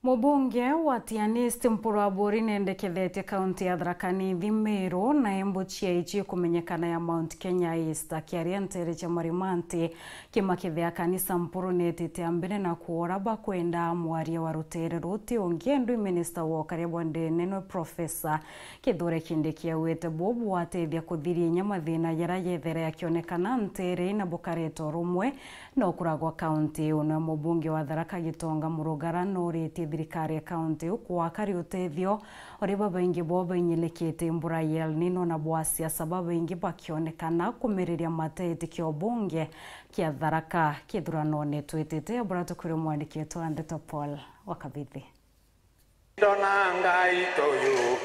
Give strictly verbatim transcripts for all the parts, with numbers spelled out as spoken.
Mubunge wa Tigania East Mpuru Aburi nendekethetie kaunti ya Tharaka Nithi, Meru na Embu ciaichie kumenyekana ya Mount Kenya East. Akiaria nteere cia Marimanti, Kiima Kithea Kanisa Mpuru netite a mbere na kuora bakwenda mwaria wa ruteere ruti ungi, endwi minista wa ukaria bwa ndene nwe Professor Kithure Kindiki augite buu bwatethia kuthiria inya mathina jaria jethaira jakionekana nteere na bukareta urumwe na ukura gwa kaunti iu. Nwe mubunge wa Tharaka Gitonga Murugara noritie thirikari ya kaunti iu kwaka ri utethio uri babaingi bo bainyirikite mbura ya El Nino na bwa siasa babaingi bakionekana kumiriria mateti kio bunge kia Tharaka kithuranone twitite. Abura tukwire mwandiki wetu wa ndeto Paul wa Kabithi. Ndona Ngai toyo.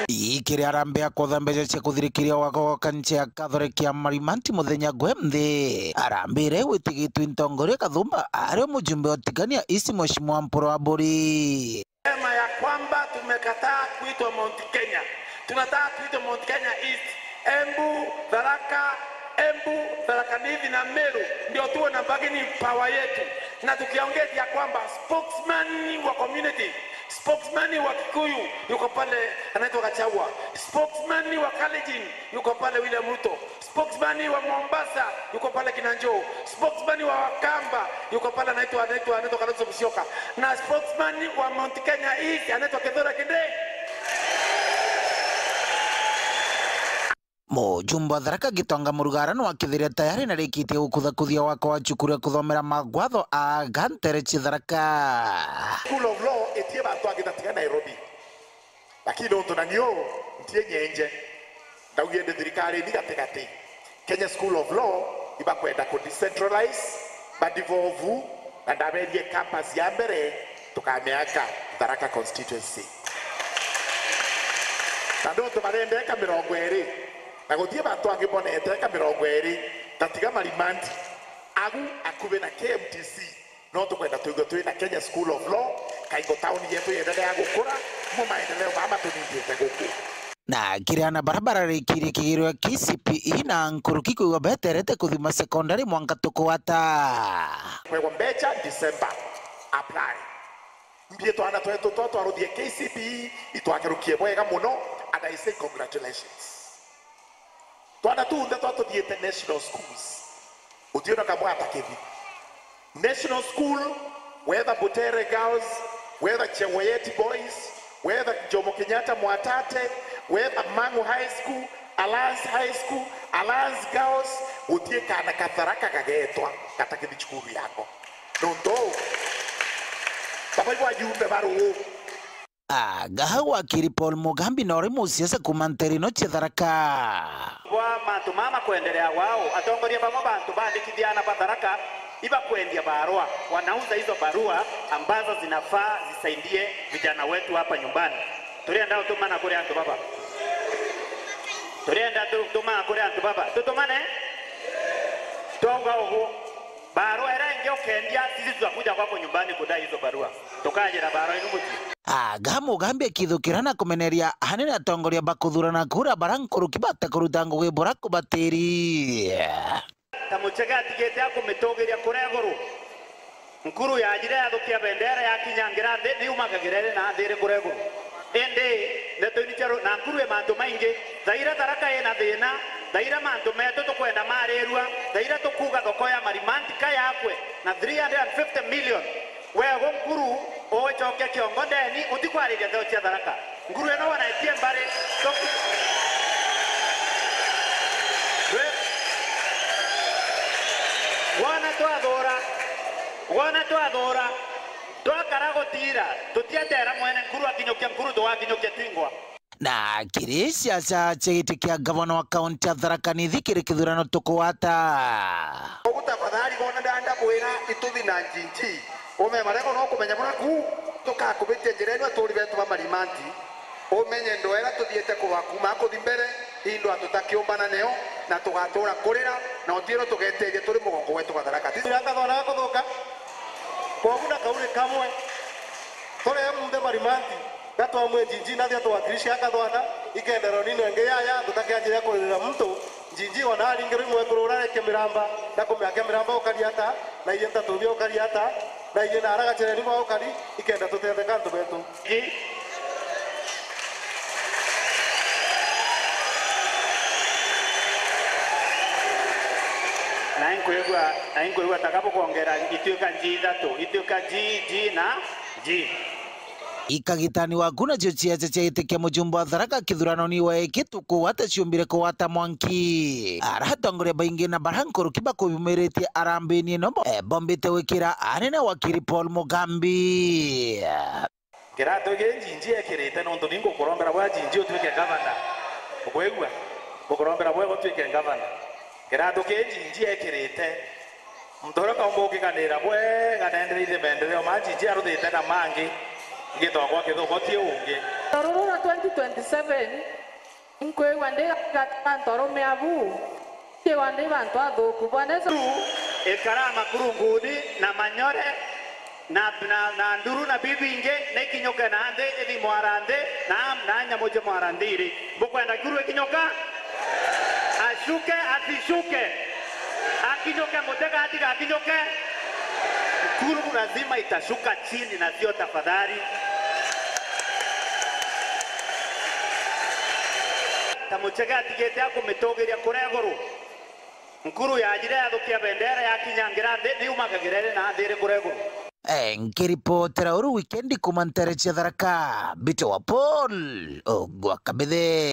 Ikiri arambe ya kwotha mbeca cia kuthirikiria wako wa kanisa ya Catholic ya Marimanti muthenya gwe nthi. Arambire witigitwe ntongoria Kathumba ari mujumbe wa Tigania East Mheshimiwa Mpuru Aburi. Sema ya kwamba tumekataa kuitwa Mount Kenya. Tunataka tuitwe Mount Kenya East. Embu, Tharaka, Embu, Tharaka Nithi na Meru ndio tuwe na bargaining power yetu. Na tukiongeza ya kwamba spokesman wa community, spokesman wa Kikuyu yuko pale anaitwa Gachagua. Spokesman wa Kalenjin yuko pale William Ruto. Spokesman wa Mombasa yuko pale Kinanjo. Spokesman wa Wakamba yuko pale anaitwa, anaitwa, anaitwa Kalonzo Musyoka. Na spokesman wa Mount Kenya East anaitwa Kithure Kindiki. Mujumbe wa Tharaka Gitonga Murugara nwakithiria tayari na rikitie gukuthakuthia wako wa cukuru ya kuthomera magwatho aga ntere cia Tharaka. School of Law itie bantu angitatiga Nairobi. Lakini nontu na nio ntie nyenje, ndaugire ndi thirikari ni gatigati. Kenya School of Law ibakwenda ku decentralize, ba devolve, na ndaberie campus ya mbere tukamiaka Tharaka constituency. Na nontu barenda eka mirongo iri, na gutie bantu angi bonete eka mirongo iri, tatiga Marimanti, agu akubi na K M T C, no tukwenda twigwe twina Kenya School of Law, kaingo tauni yetu yendelea gukura, mo maendeleo mama tunindite guku. Na kiri ana bara bararikirie kigiro ya K C P E na nkuruki kwigwa beterete kuthima sekondari mwanka tukwata. Kwegwa mbecha December, apply. Mbie twana twetu twa twaruthie K C P E itwakerukie bwega muno, and I say congratulations. Twana tunthe twa tuthiite national schools. Utiona kabwata kithi. National school, whether Butere Girls, whether Chewoyet Boys, whether Jomo Kenyatta Mwatate, whether Mang'u High School, Alliance High School, Alliance Girls, gutie kana ka Tharaka kagetwa gatakithi cukuru yako. Nontu baba ibo ajumbe baru. Aga wakiri Paul Mugambi na uri musiasa kuma ntere ino cia Tharaka. Bwa mantu mama kwendelea wao, atongoria bamwe bantu bandikithia ana ba Tharaka ibakwendia barua, wanauza hizo barua ambazo zinafaa zisaidie vijana wetu hapa nyumbani. Turienda utumana kuri antu baba. Turienda tu-, utumana kuri antu baba. Tutumane? Twauga ugu. Barua iria ingi ukendia, sisi tutakuja kwako nyumbani kudai hizo barua. Tukajira barua inu mucii. Aga Mugambi akithukira na kumeneria anene atongoria ba kuthurana kura bara nkuruki bate kuruta ngugi bura kubatiri. Ta Muchege atigite akumitugiria kuria iguru. Nkuru yajire yathukia bendera yakinyangira nthi, niumagagira iri na nthi iri kuria iguru. Indi ndeto ini cia ru-, na nkuru i mantu maingi. Thaira Tharaka ina thina, thaira mantu metu tukwenda marirua, thaira tukuuga thoko ya Marimanti ka yakwe na three hundred and fifty million. Wego nkuru ucoke kiongo ndeni, utikwariria ntheo cia Tharaka. Nkuru ino wanaetie mbari, toku-, we-, wona twathura, wona twathura, twakara gutira, tutietera mwene nkuru akinyukia nkuru, tugakinyukia twingwa. Na kiri siasa cia giti kia gavana wa kaunti ya Tharaka Nithi kiri kithurano tukwata. Ugu tafadhali bona ndanda bwira ituthi na njinji. Ume marego no kumenya bura ku tukakubitia njira ino aturi betu ba Marimanti. Umenye ndwera tuthiite kuba kuma kuthi mbere, indo atutakiumbana neo, na tugatura kurira, na utiro tugeteria turi mugongo wetu gwa Tharaka. Tisi akathona gakuthuka. Kogu na kauri kamwe. Tore munthe Marimanti, gatwamwe njinji na thia twakirisha akathwana, ikendero nino ingi yaya, tutakianjira kuririra muntu, Njinji ona aringirwe imwekuru uria areke miramba, na kumea kia miramba ukari ata, na iye ntatu bia ukari ata, na iye na aragacereni bwa ukari, ikenda tutetheka antu betu. Ji. Na inkwigua, na inkwigua taka bukongera ituika nji ithatu, ituika ji, ji na ji. Ikagitani waku nacio ciaca cia giti kia mujumbe wa Tharaka kithuranoni wa eki tukugwata ciumbire kugwata mwanki. Ara atongoria baingi na bara nkuruki bakubumiritie arambini ino bo-, eh, bombite gwikira anene wakiri Paul Mugambi. Kiratu giki Njinji ekirite nontu ni ngukurombera bwe Njinji utuike ngavana. Ukwigua? Ngukurombera bwe utuike ngavana. Kiratu giki Njinji ekirite. Muntu uria kaumba ukiganira bwega na endereithie maendeleo ma Njinji aruthite na mangi, ngitwa gwa kithuko ti ungi. Ruru rwa twenty twenty-seven, nkwigua ndi gati ka antu arume abu, nkwigua ndi bantu athuku. Bwana Yesu. Ikara makurunguni na manyore, na, na, na nduru na bibi ingi, na ikinyuke na nthi, ithi mwara nthi, na, na nyamu cia mwara nthi iri. Bukwenda kuru ikinyuka? Ashuke, asishuke? Akinyuke, mutega atiga akinyuke? Kuru lazima itashuka chini na sio tafadhali. Ta muchege atigite akumitugiria kuria iguru. Nkuru yajire yathukia bendera yakinyangira nthi, niumagagira iri na nthi iri kuria iguru. Eh, nkiripotera uru wikendi kuma ntere cia Tharaka, Mbite wa Paul, Ogwa Kabithe.